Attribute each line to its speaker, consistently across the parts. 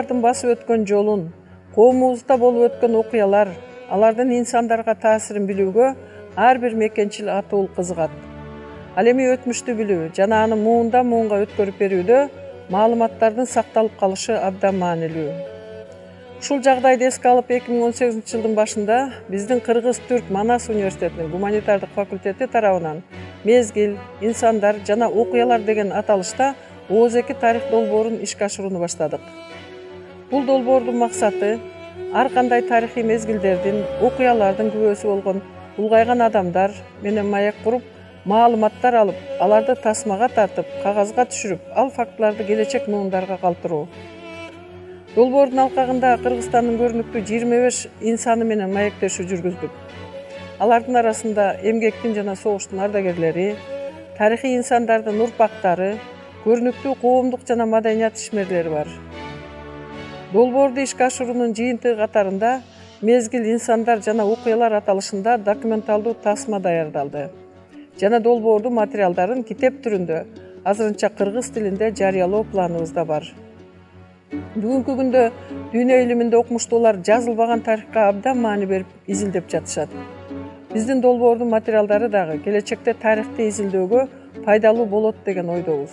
Speaker 1: адамдардын басып өткөн жолун, коомубузда болуп өткөн окуялар, алардын инсандарга таасирин билүүгө ар бир мекенчил атуул кызыгат. Ал эми өтмүштү билүү жана аны муундан муунга өткөрүп берүүдө маалыматтардын сакталып калышы абдан маанилүү. Ушул жагдайды эске алып 2018-жылдын башында биздин Кыргыз-Түрк Манас университетинин гуманитардык факультети тарабынан мезгил, инсандар жана окуялар деген аталышта ооз-2 тарых долбоорун ишке ашырууну баштадык. Бул долбоордун максаты ар кандай тарыхый мезгилдердин, окуялардын күбөсү болгон улгайган адамдар менен маек куруп, маалыматтар алып, аларды тасмага тартып, кагазга түшүрүп, ал фактыларды келечек муундарга калтыруу. Долбоордун алкагында Кыргызстандын көрүнүктүү 25 инсаны менен маектешүү жүргүздүк. Алардын арасында эмгектин жана согуштун ардагерлери, тарыхый инсандардын урпактары, көрүнүктүү коомдук жана маданият ишмерлери бар. Долбоорду ишке ашыруунун жыйынтыгы катарында мезгил, инсандар жана окуялар аталышында документалдуу тасма даярдалды жана долбоордун материалдарын китеп түрүндө азырынча кыргыз тилинде жарыялоо планыбызда бар. Бүгүнкү күндө дүйнө илиминде окумуштуулар жазылбаган тарыхка абдан маани берип изилдеп жатышат. Биздин долбоордун материалдары дагы келечекте тарыхты изилдөөгө пайдалуу болот деген ойдобуз.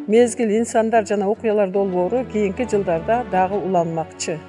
Speaker 1: Мезгил, инсандар жана окуялар долбоору кийинки жылдарда дагы уланмакчы.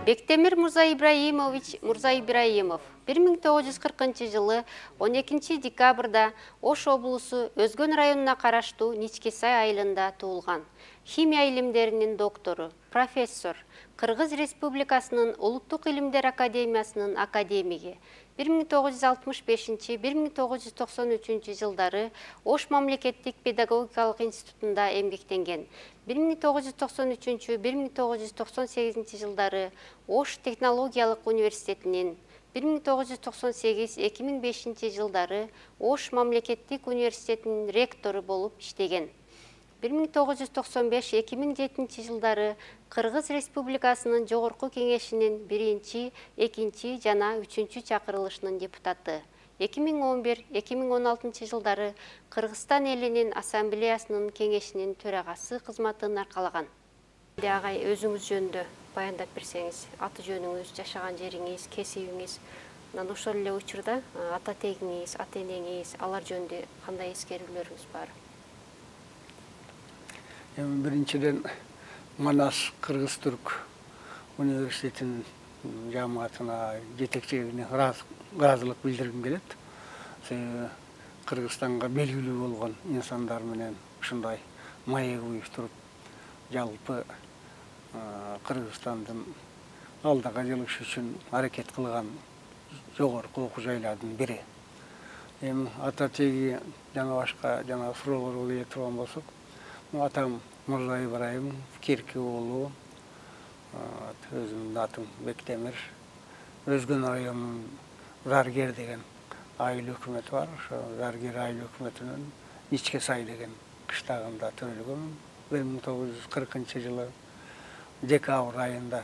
Speaker 2: Бектемир Мурза Ибраимович Мурза Ибраимов 1940-жылы 12 декабрда Ош облусу Өзгөн районуна караштуу Ничкесай айылында туулган. Химия илимдеринин доктору, профессор, Кыргыз Республикасынын Улуттук илимдер академиясынын академиги. 1965-1993 жылдары Ош мамлекеттик педагогикалык институтунда эмгектенген. 1993-1998 жылдары Ош технологиялык университетинин, 1998-2005 жылдары Ош мамлекеттик университетинин ректору болуп иштеген. 1995-2007 жылдары Кыргыз Республикасынын Жогорку Кеңешинин 1, 2 жана 3 чакырылышынын депутаты. 2011-2016 жылдары Кыргызстан элинин ассамблеясынын кеңешинин төрагасы кызматын аркалаган. Агай, өзүңүз жөнүндө баяндап берсеңиз, аты жөнүңүз, жашаган жериңиз, кесибиңиз, ошол эле учурда ата тегиңиз, ата энеңиз, алар жөнүндө кандай эскерүүлөрүңүз бар?
Speaker 3: Биринчиден Манас Кыргыз-Түрк университетинин жамаатына, жетекчилигине ыраазылык билдиргим келет. Кыргызстанга белгилүү болгон инсандар менен ушундай маек уюштуруп, жалпы Кыргызстандын алдыга жылыш үчүн аракет кылган жогорку окуу жайлардын бири. Ата теги жана башка суроолорго келе турган болсок, атам Мурза Ибраимов, Кирки уулу, өзүмдүн атым Бектемир, Өзгөн районунун Заргер деген айыл өкмөтү бар. Ошо Заргер айыл өкмөтүнүн Ничкесай деген кыштагында төрөлгөм. 1940 жылы декабрь айында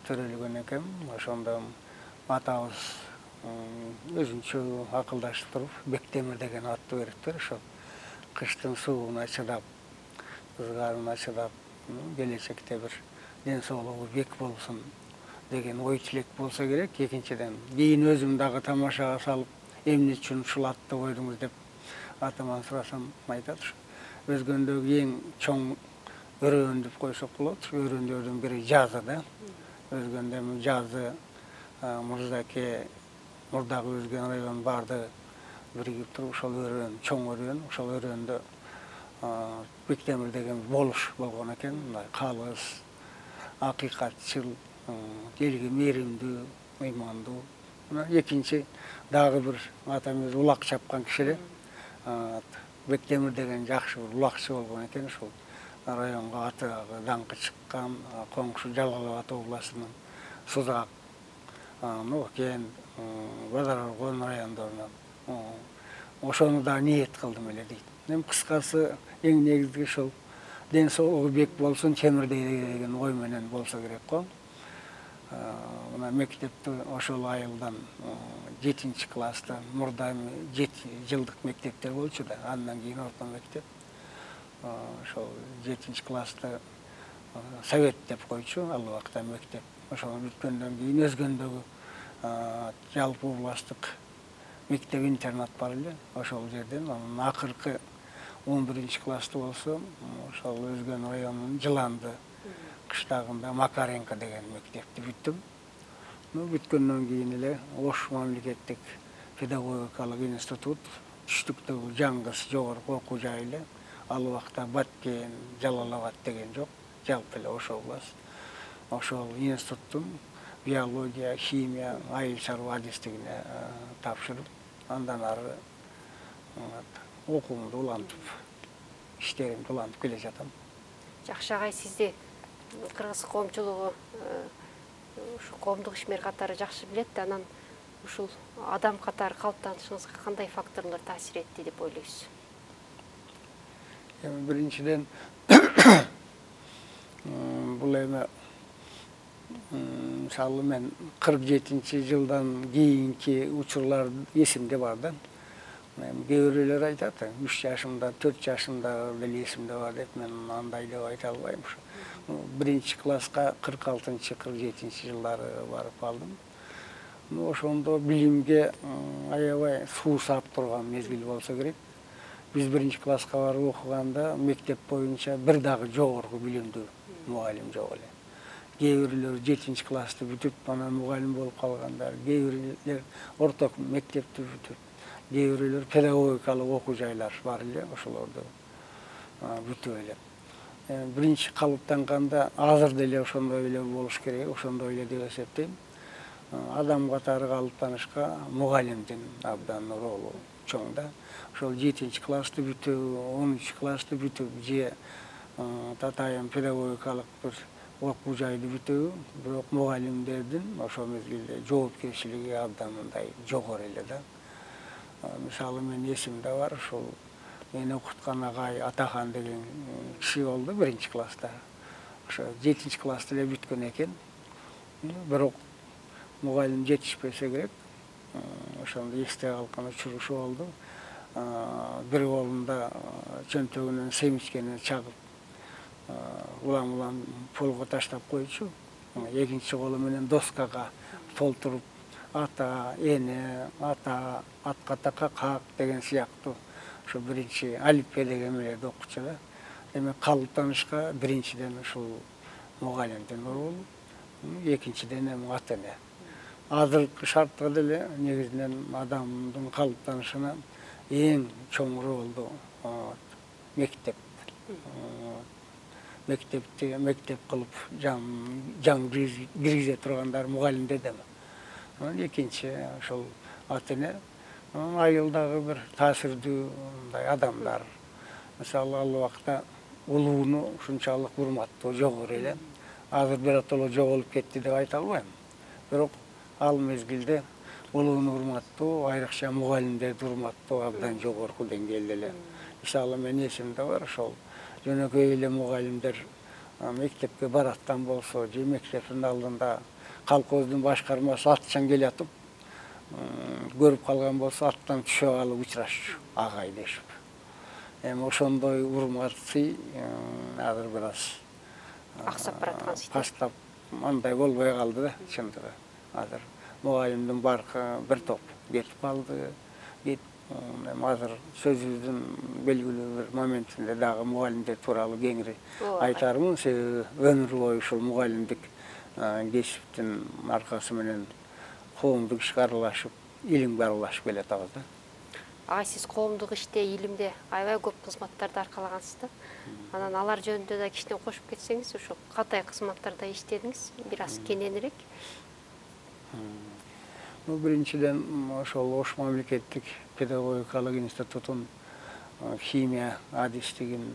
Speaker 3: төрөлгөн экен. Ошондо атабыз өзүнчө акылдашып туруп Бектемир деген атты бериптир. Ошо кыштын сууна чыдап, ызгаарына чыдап, келечекте бир ден соолугу бек болсун деген ой тилек болсо керек. Экинчиден, кийин өзүм дагы тамашага салып, эмне үчүн ушул атты койдуңуз деп атаман сурасам, айтат, Өзгөндөгү эң чоң өрөөн деп койсок болот. Өрөөндөрдүн бири жазы да. Өзгөндө жазы Мурзаке, мурдагы Өзгөн районунун баардыгы биригип туруп ошол өрөөн, чоң өрөөн, ошол өрөөндө Бектемир деген болуш болгон экен. Мындай калыс, акыйкатчыл, элге мээримдүү, ыймандуу. Экинчи дагы бир атамыз улак чапкан киши эле. Бектемир деген жакшы бир улакчы болгон экен. Ушул районго аты даңкы чыккан, коңшу Жалал Абад областынын Сузак, Нокен, Базар Оргон райондорунан ошону да ниет кылдым эле дейт. Кыскасы эң негизги ушул ден соолугу бек болсун, чемирдей деген ой менен болсо керек го. мына мектепти ошол айылдан 7-класста мурда 7 жылдык мектептер болчу да, андан кийин орто мектеп. Ошол 7-класста совет деп койчу, ал убакта мектеп. Ошол бүткөндөн кийин өзгөндөгү жалпы областтык мектеп-интернат бар эле. Ошол жерден анын акыркы 11-класста болсо, ошол Өзгөн районунун Жыланды кыштагында Макаренко деген мектепти бүттүм. Бүткөндөн кийин эле Ош мамлекеттик педагогикалык институт, түштүктөгү Жаңгыз жогорку окуу жайы эле. Ал убакта Баткен, Жалалабад деген жок, жалпы эле Ош область. Ошол институттун биология, химия, айыл чарба адистигине тапшырып, андан ары окуумду улантып, иштеримди улантып келе жатам.
Speaker 2: Жакшы агай, сизди кыргыз коомчулугу ушу коомдук ишмер катары жакшы билет. Анан ушул адам катары калыптанышыңызга кандай факторлор таасир этти деп ойлойсуз?
Speaker 3: Биринчиден бул эме мисалы мен 47-жылдан кийинки учурлар эсимде бар да. Кээ бирөөлөр айтат, 3 жашымда, 4 жашымда деле эсимде бар деп, мен андай деп айта албайм. 1-класска 46-47 жылдары барып калдым. Ошондо билимге аябай суу саап турган мезгил болсо керек. Биз 1-класска барып окуганда мектеп боюнча бир дагы жогорку билимдүү мугалим жок эле. Кээ бирөөлөр 7-классты бүтүп, анан мугалим болуп калгандар, кээ бирөөлөр орто мектепти бүтүп, кээ бирөөлөр педагогикалык окуу жайлар бар эле, ошолорду бүтүп эле. Биринчи калыптанганда азыр деле ошондой эле болуш керек, ошондой эле деп эсептейм. Адам катары калыптанышка мугалимдин абдан ролу чоң да. Ошол 7-классты бүтүп, 10-классты бүтүп, же татайын педагогикалык бир окуу жайды бүтүп, бирок мугалимдердин ошол мезгилде жоопкерчилиги абдан мындай жогору эле да. Мисалы мен эсимде бар, ушул мени окуткан агай Атахан деген киши болду 1-класста. Ошо 7-классты эле бүткөн экен. Бирок мугалим жетишпесе керек. Ошондо эсте калган учурушу болду. Бир колунда чөнтөгүнөн семичкени чагып, улам полго таштап койчу. Экинчи колу менен доскага толтуруп ата, эне, ата, атка така как деген сыяктуу ошо биринчи алифбе деген эмелерди окучу да. Эми калыптанышка биринчиден ушул мугалимдин ролу, экинчиден эми ата-эне. Азыркы шартта деле негизинен адамдын калыптанышына эң чоң ролду мектеп. Мектепти мектеп кылып жан киргизе тургандар мугалимдер да. Экинчи ошол ата-эне, айылдагы бир таасирдүү мындай адамдар. Мисалы ал убакта улууну ушунчалык урматтоо жогору эле. Азыр биротоло жоголуп кетти деп айта албайм. Бирок ал мезгилде улууну урматтоо, айрыкча мугалимдерди урматтоо абдан жогорку деңгээлде эле. Мисалы мен эсимде бар, ошол жөнөкөй эле мугалимдер мектепке бараттан болсо, же мектептин алдында колхоздун башкармасы атчан келатып, көрүп калган болсо аттан түшө калып учурашчу, агай дешип. Эми ошондой урмат сый азыр бир аз
Speaker 2: аксап бараткан сыйты.
Speaker 3: Кастап андай болбой калды да, чындыгы. Азыр мугалимдин баркы бир топ кетип калды. Эми азыр сөзүбүздүн белгилүү бир моментинде дагы мугалимдер тууралуу кеңири айтармын, себеби өмүр бою ушул мугалимдик кесиптин аркасы менен коомдук ишке аралашып, илимге аралашып келатабыз да.
Speaker 2: Агай, сиз коомдук иште, илимде аябай көп кызматтарды аркалагансыз да. Анан алар жөнүндө да кичине кошуп кетсеңиз, ошо кандай кызматтарда иштедиңиз, бир аз кененирээк?
Speaker 3: Биринчиден ошол Ош мамлекеттик педагогикалык институтун химия адистигин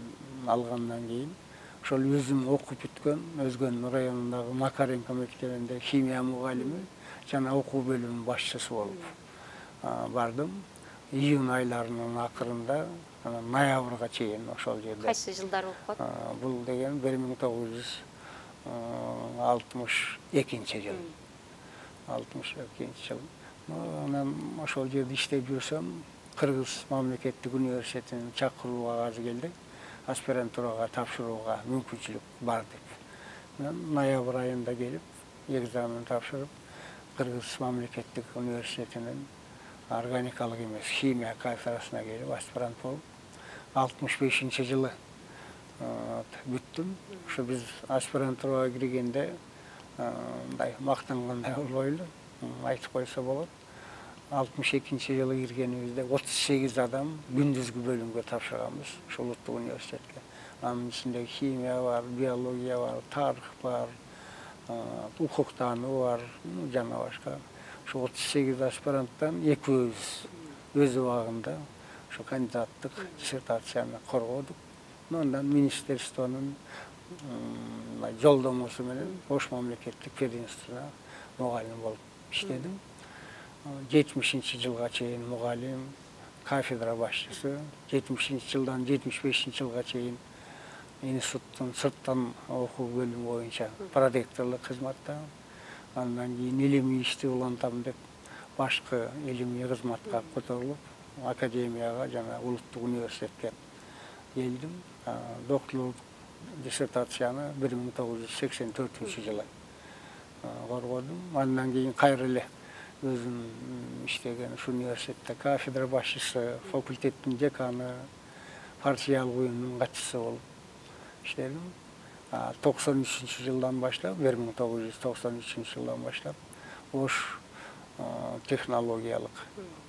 Speaker 3: алгандан кийин ошол өзүм окуп бүткөн Өзгөн районундагы Макаренко мектебинде химия мугалими жана окуу бөлүмүнүн башчысы болуп бардым. Июнь айларынын акырында ноябрга чейин ошол жерде.
Speaker 2: Кайсы жылдар болуп калат?
Speaker 3: Бул деген 62 жыл. 62 жыл. Анан ошол жерде иштеп жүрсөм, Кыргыз мамлекеттик университетинин чакыруу кагазы келди. Аспирантурага тапшырууга мүмкүнчүлүк бар деп. Мен ноябрь айында келип, экзамен тапшырып, Кыргыз мамлекеттик университетинин органикалык эмес, химия кафедрасына келип, аспирант болуп, 65-жылы бүттүм. Ошо биз аспирантурага киргенде мындай мактангандай болбойлу, айтып койсо болот. 62-жылы киргенибизде 38 адам күндүзгү бөлүмгө тапшырганбыз, ошо улуттук университетке. Анын ичинде химия бар, биология бар, тарых бар, укуктануу бар, жана башка. Ошо 38 аспиранттан экөөбүз өз убагында ошо кандидаттык диссертацияны коргодук. Андан министерствонун жолдомосу менен Ош мамлекеттик пединститутуна мугалим болуп иштедим. 70-жылга чейин мугалим, кафедра башчысы, 70-жылдан 75-жылга чейин институттун сырттан окуу бөлүмү боюнча проректорлук кызматта. Андан кийин илимий ишти улантам деп башкы илимий кызматка которулуп, академияга жана улуттук университетке келдим. Докторлук диссертацияны 1984-жылы коргодум. Андан кийин кайра эле өзүм иштеген ушу университетте кафедра башчысы, факультеттин деканы, партиялык уюмдун катчысы болуп иштедим. 93-жылдан баштап, 1993-жылдан баштап Ош технологиялык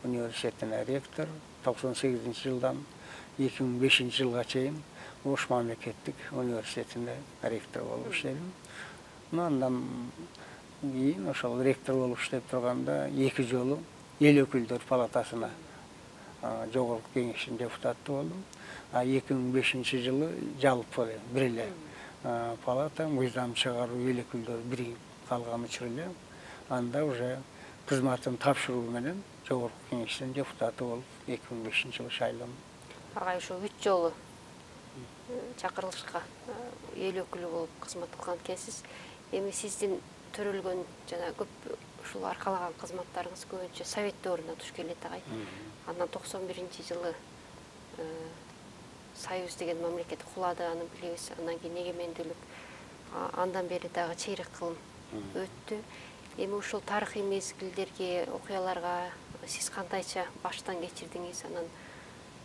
Speaker 3: университетине ректор, 98-жылдан 2005-жылга чейин Ош мамлекеттик университетинде ректор болуп иштедим. Андан кийин ошол ректор болуп иштеп турганда 2 жолу эл өкүлдөр палатасына жогорку кеңештин депутаты болдум. 2005-жылы жалпы бир эле палата мыйзам чыгаруу эл өкүлдөр бириgiп калган учур эле анда уже кызматын тапшыруу менен жогорку кеңештин депутаты болуп 2005-жылы шайландым.
Speaker 2: Агай ошо 3 жолу чакырылышка эл өкүлү болуп кызмат кылган экенсиз. Эми сиздин төрөлгөн жана көп ушул аркалаган кызматтарыңыз көбүнчө совет дöwрүнө туш келет агай. Андан 91-жылы Союз деген мамлекет кулады, аны билебиз. Андан кийин эгемендүүлүк, андан бери дагы чейрек кылым өттү. Эми ушул тарыхый мезгилдерге, окуяларга сиз кандайча баштан кечирдиңиз? Анан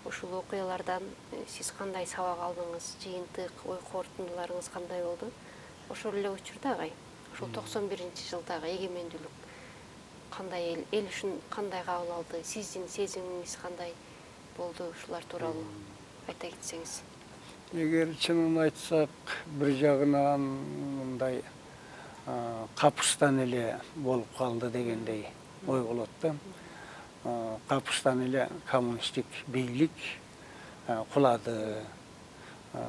Speaker 2: ушул окуялардан сиз кандай сабак алдыңыз? Жыйынтык, ой корутундуларыңыз кандай болду? Ошол эле учурда агай, ушул 91-жылдагы эгемендүүлүк кандай эл үчүн кандай кабыл алды? Сиздин сезимиңиз кандай болду? Ушулар тууралуу айта кетсеңиз.
Speaker 3: Эгер чынын айтсак, бир жагынан мындай капыстан эле болуп калды дегендей ой болот да. Капыстан эле коммунисттик бийлик кулады.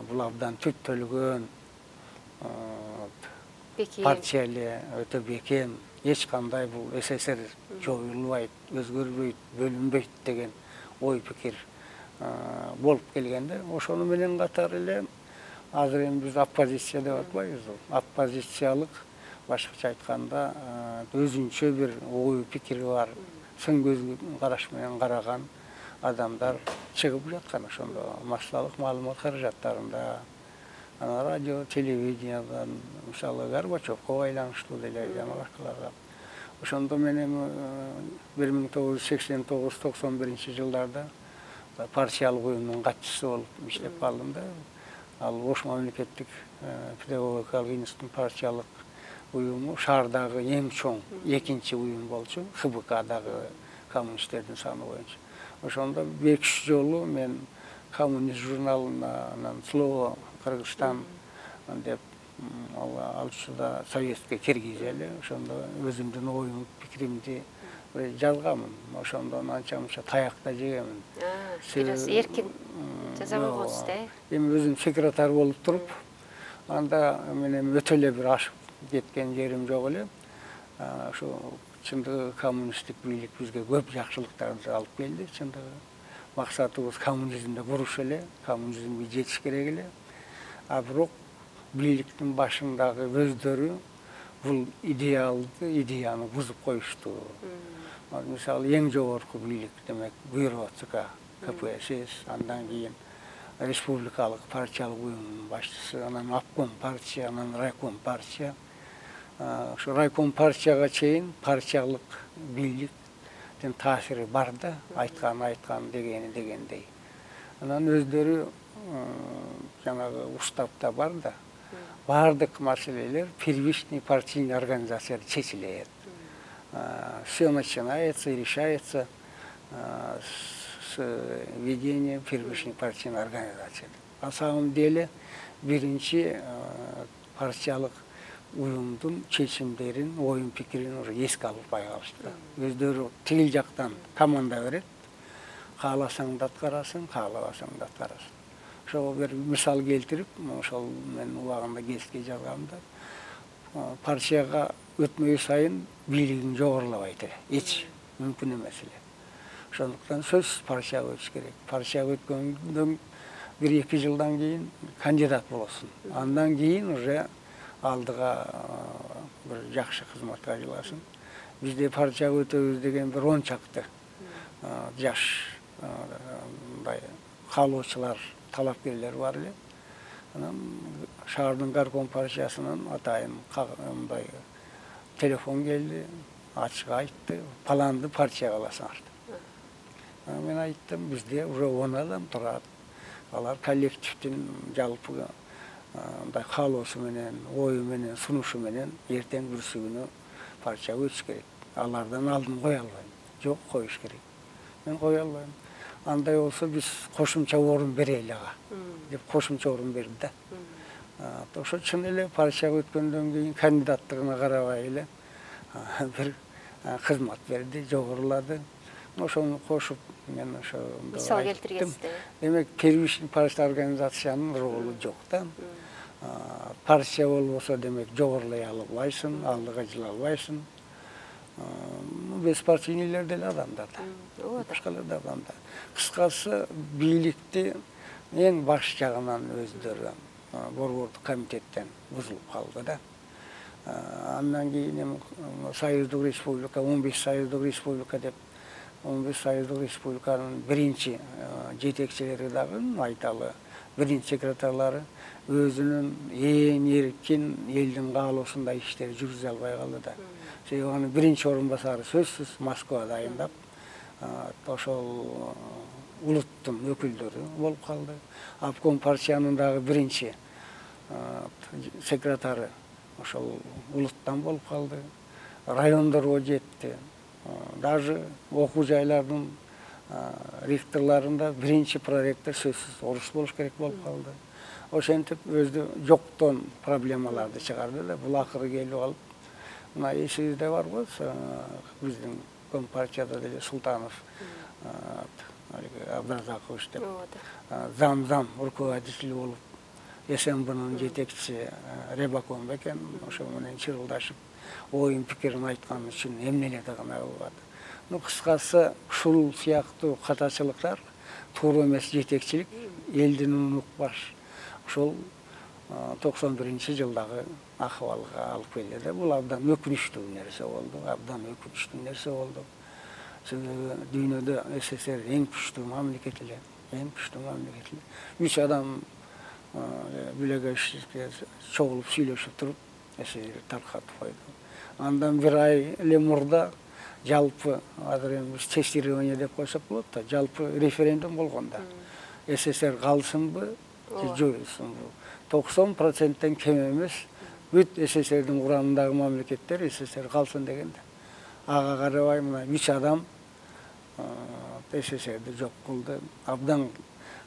Speaker 3: Бул абдан түптөлгөн партия эле өтө бекем, эч кандай бул СССР жоюлбайт, өзгөрбөйт, бөлүнбөйт деген ой пикир болуп келгенде, ошону менен катар эле азыр эми биз оппозиция деп атпайбызбы? Оппозициялык, башкача айтканда, өзүнчө бир ой пикири бар, сын көз караш менен караган адамдар чыгып жаткан ошондо массалык маалымат каражаттарында, радио, телевидениядан, мисалы Горбачевко байланыштуу деле жана башкаларга. Ошондо мен эми 1989-91-жылдарда партиялык уюмдун катчысы болуп иштеп калдым да. Ал Ош мамлекеттик педагогикалык институттун партиялык уюму шаардагы эң чоң экинчи уюм болчу, ХБКдагы коммунисттердин саны боюнча. Ошондо 5 жолу мен коммунист журналына, анан Слово Кыргызстан деп ал учурда советке киргизели, ошондо өзүмдүн оюм, пикиримди жазганмын. Ошондон анча-мынча таяк да жегенмин.
Speaker 2: Бираз эркин жаза койгонсуз да.
Speaker 3: Эми өзүм секретарь болуп туруп, анда менен өтө эле бир ашып кеткен жерим жок эле. Ошо чындыгы коммунисттик бийлик бизге көп жакшылыктарды алып келди. Чындыгы максатыбыз коммунизмди куруш эле, коммунизмге жетиш керек эле. Бирок бийликтин башындагы өздөрү бул идеяны бузуп коюшту. Мисалы эң жогорку бийлик демек бюро ЦК КПСС, андан кийин республикалык партиялык уюмдун башчысы, анан обком партия, анан райком партия. Ошо райком партияга чейин партиялык бийликтин таасири бар да, айткан дегендей. Анан өздөрү жанагы уставда бар да, бардык маселелер первичный партийный организацияда чечилет. Все начинается и решается с ведения первичной партийной организации. На самом деле биринчи партиялык уюмдун чечимдерин, оюн пикирин уже эске албай калышты. Өздөрү тигил жактан команда берет. Кааласаң да аткарасың, каалабасаң да аткарасың. Ошого бир мисал келтирип, ошол мен убагында гезитке жазгамда, партияга өтмөй сайын бийлигин жогорулабайт эле. Эч мүмкүн эмес эле. Ошондуктан сөзсүз партияга өтүш керек. Партияга өткөндөн 1-2 жылдан кийин кандидат болосуң. Андан кийин уже алдыга бир жакшы кызматка айласың. Бизде партияга өтөбүз деген бир 10 чакты жаш каалоочулар, талапкерлер бар эле. Анан шаардын горком партиясынан атайын мындай телефон келди, ачык айтты, паланды партияга аласыңар. Мен айттым, бизде уже 10 адам турат. Алар коллективдин жалпы мындай каалоосу менен, ою менен, сунушу менен эртең бүрсүгүнө партияга өтүш керек. Алардан алдын кое албайм. Жок, коюш керек. Мен кое албайм. Андай болсо биз кошумча орун берели ага деп кошумча орун берди да. Ошо чын эле партияга өткөндөн кийин кандидаттыгына карабай эле бир кызмат берди, жогорулады. Ошону кошуп мен ошо
Speaker 2: мисал келтиргенсиз.
Speaker 3: Демек первичный партия организациянын ролу жок да. Партия болбосо демек жогорулай албайсың, алдыга жыла албайсың. Беспартийлер деле адамдар да. Башкалар да адамдар. Кыскасы бийликти эң баш жагынан өздөрү борбордук комитеттен бузулуп калды да. Андан кийин Союздук Республика, 15 Союздук Республика деп 15 Союздук Республиканын биринчи жетекчилери дагы айталы, биринчи секретарлары өзүнүн эң эркин элдин каалоосундай иштерди жүргүзө албай калды да. Себеби анын биринчи орун басары сөзсүз Москвада айындап, ошол улуттун өкүлдөрү болуп калды. Обком партиянын дагы биринчи секретары ошол улуттан болуп калды. Райондорго жетти. Даже окуу жайлардын ректорларында биринчи проректор сөзсүз орус болуш керек болуп калды. Ошентип өзү жоктон проблемаларды чыгарды да. Бул акыры келип калып, мына эсибизде барбы, биздин компартияда деле Султанов Абдразакович деп зам руководитель болуп, СМБнын жетекчиси Ребакон бекен, ошо менен чырылдашып, оюн пикирин айткан үчүн эмнелерди гана кылат. Кыскасы, ушул сыяктуу катачылыктар туура эмес жетекчилик элдин унукпаш. Ошол 91-жылдагы акыбалга алып келди да. Бул абдан өкүнүчтүү нерсе болду. Себеби дүйнөдө СССР эң күчтүү мамлекет эле, 3 адам билегешке чогулуп сүйлөшүп туруп, СССР таркатып койду. Андан бир ай эле мурда жалпы азыр эми тестирование деп койсок болот да, жалпы референдум болгон да. СССР калсынбы, жоюлсунбу? 90%тен кем эмес бүт СССРдин курамындагы мамлекеттер СССР калсын деген да. Ага карабай мына 3 адам СССРди жок кылды. Абдан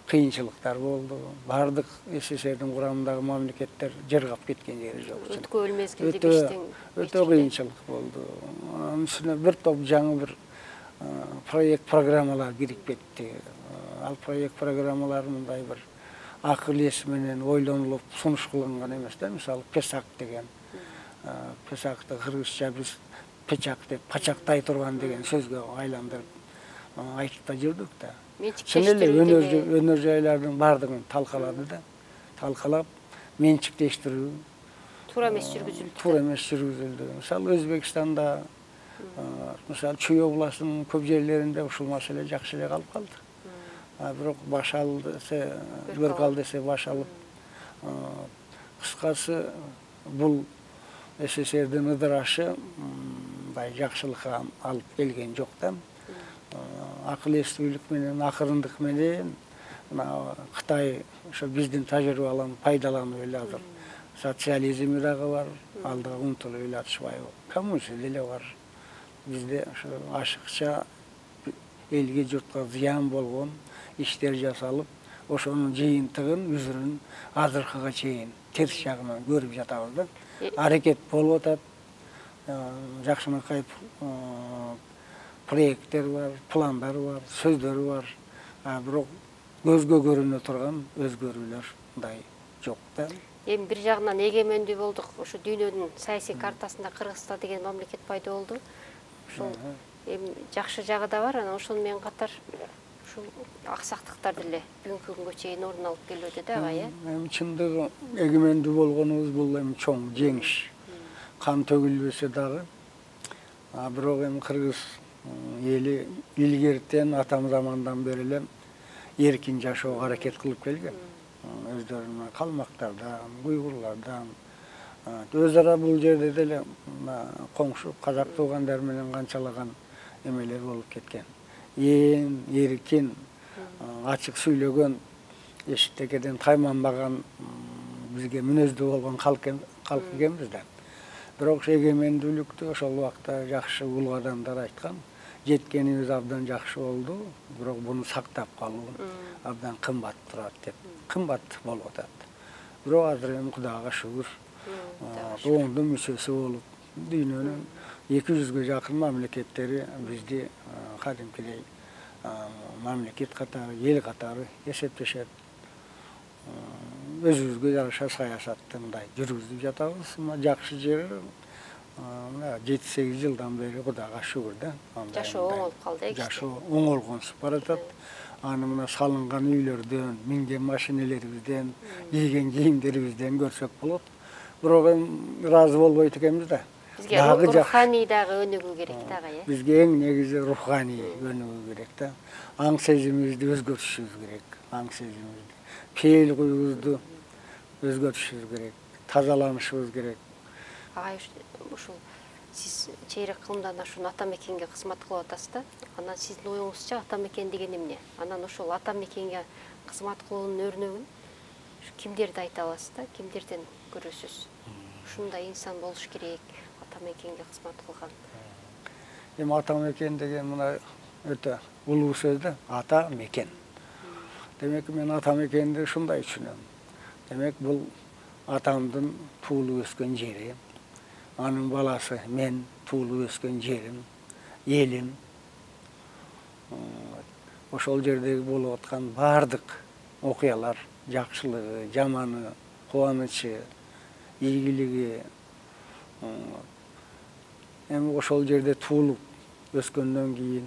Speaker 3: кыйынчылыктар болду. Бардык СССРдин курамындагы мамлекеттер жыргап кеткен жери жок.
Speaker 2: Өткөн мезгилдеги иштин
Speaker 3: өтө кыйынчылык болду. Анын үстүнө бир топ жаңы бир проект программалар кирип кетти. Ал проект программалар мындай бир акыл эс менен ойлонулуп сунуш кылынган эмес да. Мисалы Песак деген. Песакты кыргызча биз печак деп пачактай турган деген сөзгө айландырып айтып да жүрдүк да. Чын эле өнөр жайлардын бардыгын талкалады да. Талкалап менчиктештирүү
Speaker 2: туура эмес жүргүзүлдү.
Speaker 3: туура эмес жүргүзүлдү. Мисалы Өзбекстанда, мисалы Чүй областынын көп жерлеринде ушул маселе жакшы эле калып калды. Бирок баш ал десе, бөрк ал десе баш алып. Кыскасы бул СССРдин ыдырашы мындай жакшылыкка алып келген жок да. Акыл эстүүлүк менен, акырындык менен Кытай ошо биздин тажрыйбаларын пайдаланып эле азыр социализми дагы бар, алдыга умтулуп эле атышпайбы? Коммунизм деле бар. Бизде ошо ашыкча элге журтка зыян болгон иштер жасалып, ошонун жыйынтыгын, үзүрүн азыркыга чейин терс жагынан көрүп жатабыз да. Аракет болуп атат. Жакшынакай проекттер бар, пландар бар, сөздөр бар. Бирок көзгө көрүнө турган өзгөрүүлөр мындай жок да.
Speaker 2: Эми бир жагынан эгемендүү болдук. Ошо дүйнөнүн саясий картасында Кыргызстан деген мамлекет пайда болду. Ошол эми жакшы жагы да бар, анан ошону менен катар ушул аксактыктар деле бүгүнкү күнгө чейин орун алып келүүдө да агай.
Speaker 3: Эми чындыгы эгемендүү болгонубуз бул эми чоң жеңиш. Кан төгүлбөсө дагы. Бирок эми кыргыз эли илгертен атам замандан бери эле эркин жашоого аракет кылып келген. Өздөрүнүн калмактардан, уйгурлардан, өз ара бул жерде деле коңшу казак туугандар менен канчалаган эмелер болуп кеткен. Эркин, ачык сүйлөгөн, эшиктекеден тайманбаган бизге мүнөздүү болгон калк экенбиз да. Бирок эгемендүүлүктү ошол убакта жакшы улуу адамдар айткан. Жеткенибиз абдан жакшы болду, бирок буну сактап калуу абдан кымбат турат деп. Кымбат болуп атат. Бирок азыр эми Кудайга шүгүр, оондун мүчөсү болуп, дүйнөнүн 200ге жакын мамлекеттери бизди кадимкидей мамлекет катары, эл катары эсептешет. Өзүбүзгө жараша саясатты мындай жүргүзүп жатабыз. Жакшы жери 7-8 жылдан бери Кудайга шүгүр да.
Speaker 2: Жашоо оңолуп калды.
Speaker 3: Жашоо оңолгонсуп баратат. Аны мына салынган үйлөрдөн, минген машинелерибизден, кийген кийимдерибизден көрсөк болот. Бирок эми ыраазы болбойт экенбиз да.
Speaker 2: Бизге руханий дагы өнүгүү керек да агай.
Speaker 3: Бизге эң негизи руханий өнүгүү керек да. Аң сезимибизди өзгөртүшүбүз керек. Аң сезимибизди, пейил куюбузду өзгөртүшүбүз керек. Тазаланышыбыз керек.
Speaker 2: Агай ушул сиз чейрек кылымдан ашуун ата мекенге кызмат кылып атасыз да. Анан сиздин оюңузча ата мекен деген эмне? Анан ошол ата мекенге кызмат кылуунун өрнөгүн кимдерди айта аласыз да? Кимдерден көрөсүз? Ушундай инсан болуш керек, ата мекенге кызмат кылган.
Speaker 3: Эми ата мекен деген мына өтө улуу сөз да, ата мекен. Демек мен ата мекенди ушундай түшүнөм. Демек бул атамдын туулуп өскөн жери, анын баласы мен туулуп өскөн жерим, элим. Ошол жердеги болуп аткан баардык окуялар, жакшылыгы, жаманы, кубанычы, ийгилиги, эми ошол жерде туулуп өскөндөн кийин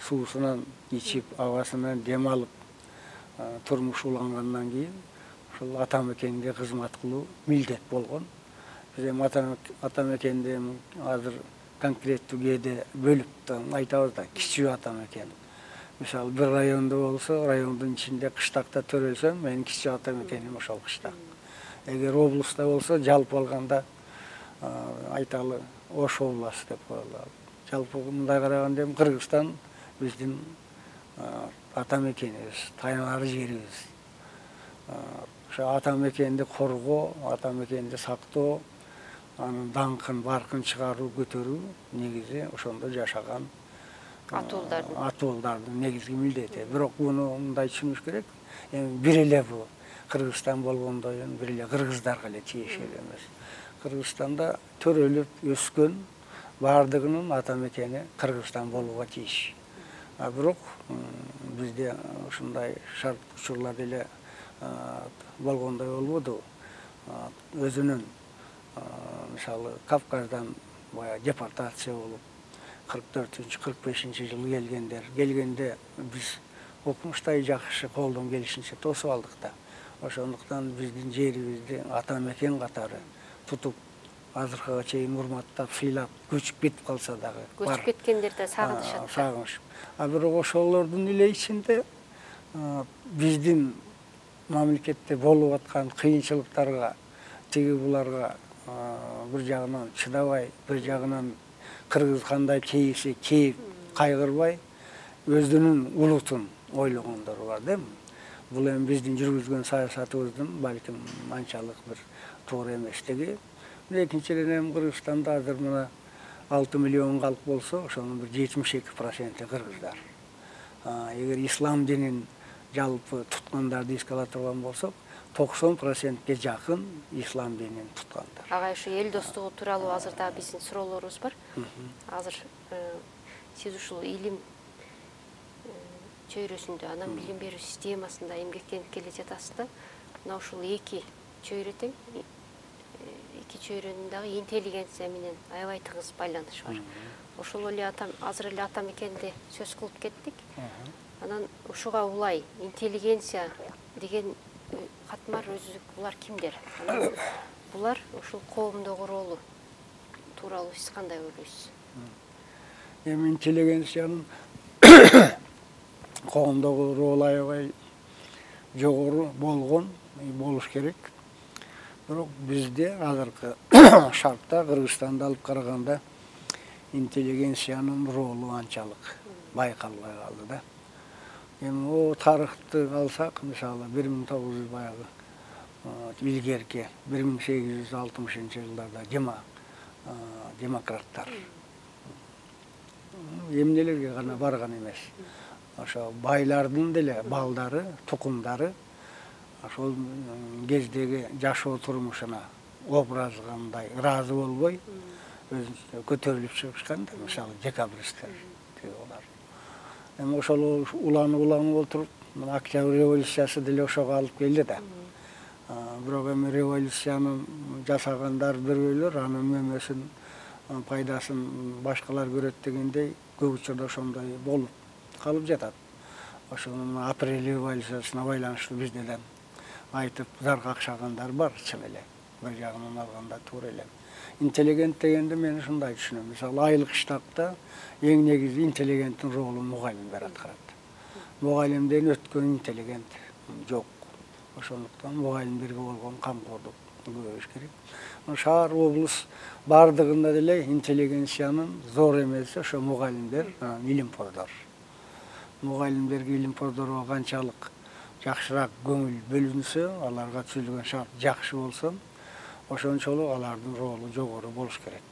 Speaker 3: суусунан ичип, абасынан дем алып, турмуш улангандан кийин ошол ата мекенге кызмат кылуу милдет болгон. Биз эми ата мекенди азыр конкреттүү кээде бөлүп айтабыз да, кичүү ата мекен. Мисалы бир райондо болсо, райондун ичинде кыштакта төрөлсөм, менин кичүү ата мекеним ошол кыштак. Эгер облуста болсо, жалпы алганда айталы Ош областы деп коелу. Жалпы мындай караганда эми Кыргызстан биздин ата мекенибиз, таянар жерибиз. Ошо ата мекенди коргоо, ата мекенди сактоо, анын даңкын, баркын чыгаруу, көтөрүү негизи ошондо жашаган атуулдардын негизги милдети. Бирок буну мындай түшүнүш керек. Эми бир эле бул Кыргызстан болгондой бир эле кыргыздарга эле тиешелүү эмес. Кыргызстанда төрөлүп өскөн баардыгынын ата мекени Кыргызстан болууга тийиш. Бирок бизде ушундай шарт учурлар деле болгондой болбоду. Өзүнүн мисалы Кавказдан баягы депортация болуп 44-45 жылы келгенде биз окумуштай жакшы колдон келишинче тосуп алдык да. Ошондуктан биздин жерибизди ата мекен катары тутуп азыркыга чейин урматтап, сыйлап, көчүп кетип калса дагы
Speaker 2: көчүп кеткендер да сагынышат.
Speaker 3: Сагыныш. Бирок ошолордун эле ичинде биздин мамлекетте болуп аткан кыйынчылыктарга, тиги буларга бир жагынан чыдабай, бир жагынан кыргыз кандай кейиси кейип, кайгырбай, өзүнүн улутун ойлогондор бар да. Бул эми биздин жүргүзгөн саясатыбыздын балким анчалык бир туура эместиги. Экинчиден эми Кыргызстанда азыр мына 6 миллион калк болсо, ошонун бир 72% кыргыздар. Эгер ислам динин жалпы туткандарды эске ала турган болсок, 90%ке жакын ислам динин туткандар.
Speaker 2: Агай, ушу эл достугу тууралуу азыр да биздин суроолорубуз бар. Азыр сиз ушул илим чөйрөсүндө, анан билим берүү системасында эмгектенип келе жатасыз да. Мына ушул эки чөйрө тең, эки чөйрөнүн дагы интеллигенция менен аябай тыгыз байланышы бар. Ошол эле азыр эле ата мекенде сөз кылып кеттик. Анан ушуга улай интеллигенция деген катмар өзү булар кимдер? Анан булар ушул коомдогу ролу тууралуу сиз кандай ойлойсуз?
Speaker 3: Эми интеллигенциянын коомдогу ролу аябай жогору болгон, болуш керек. Бирок бизде азыркы шартта Кыргызстанды алып караганда интеллигенциянын ролу анчалык байкалбай калды да. Эми тарыхты алсак, мисалы 1900 баягы илгерки 1860-жылдарда демократтар эмнелерге гана барган эмес. Ошо байлардын деле балдары, тукумдары ошол кездеги жашоо турмушуна образгандай ыраазы болбой өзүнчө көтөрүлүп чыгышкан да, мисалы декабристтер тигилар. Эми ошол уланып отуруп, Октябрь революциясы деле ошого алып келди да. Бирок эми революциянын жасагандар бирөөлөр анын мөмөсүн, пайдасын башкалар көрөт дегендей көп учурда ошондой болуп калып жатат. Ошонун апрель революциясына байланыштуу бизден айтып зар какшагандар бар, чын эле. Бир жагынан алганда туура эле. Интеллигент дегенди мен ушундай түшүнөм. Мисалы айлык штабта эң негизи интеллигенттин ролун мугалимдер аткарат. Мугалимден өткөн интеллигент жок. Ошондуктан мугалимдерге болгон камкордук көбөйүш керек. Шаар, облус бардыгында деле интеллигенциянын зор эмеси ошо мугалимдер, илимпоздор. Мугалимдерге, илимпоздорго канчалык жакшыраак көңүл бөлүнсө, аларга түзүлгөн шарт жакшы болсо, ошончолук алардын ролу жогору болуш керек.